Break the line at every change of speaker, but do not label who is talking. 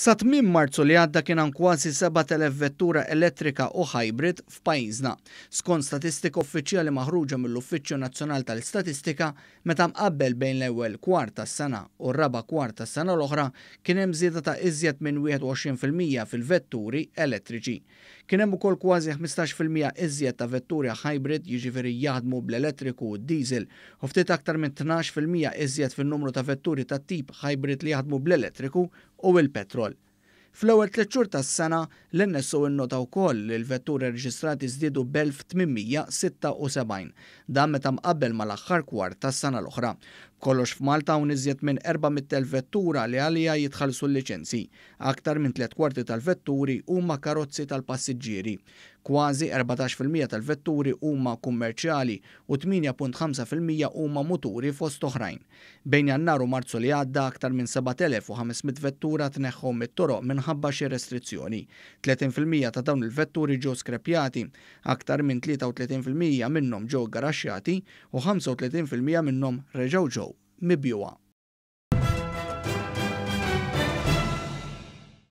Sa tmiem Marzu li għadda kien hawn kważi 7,000 vettura elettrika u hybrid f'pajjiżna. Skont statistika uffiċjali maħruġa mill-Uffiċċju Nazzjonali tal-Istatistika, meta mqabbel bejn l-ewwel kwart tas-sena u r-raba' kwart tas-sena l-oħra, kien hemm żieda ta' iżjed minn 21% fil-vetturi elettriċi. Kien hemm ukoll kważi 15% iżjed ta' vetturi hybrid, jiġifieri jaħdmu bl-elettriku u d-diesel, u ftit aktar minn 12% iżjed fin-numru ta' vetturi tat-tip hybrid li jaħdmu bl-elettriku u l-petrol. Fl-ewwel 3 xhur tas-sena, l-NSO innota wkoll li l-vetturi rreġistrati żdiedu b'1,876, dan meta mqabbel mal-aħħar kwart tas-sena l-oħra. B'kollox f'Malta hawn iżjed minn 400,000 vettura li għaliha jitħallsu l-liċenzji. Aktar minn tliet kwarti tal-vetturi huma karozzi tal-passiġġieri. Kważi 14% tal-vetturi huma kummerċjali u 8.5% huma muturi fost oħrajn. Bejn Jannar u Marzu li għadda aktar minn 7,500 vettura tneħħew mit-toroq minħabba xi restrizzjoni. 30% ta' dawn il-vetturi ġew skrepjati, aktar minn 33% minnhom ġew garaxxjati u 35% minnhom reġgħu ġew mibjugħa.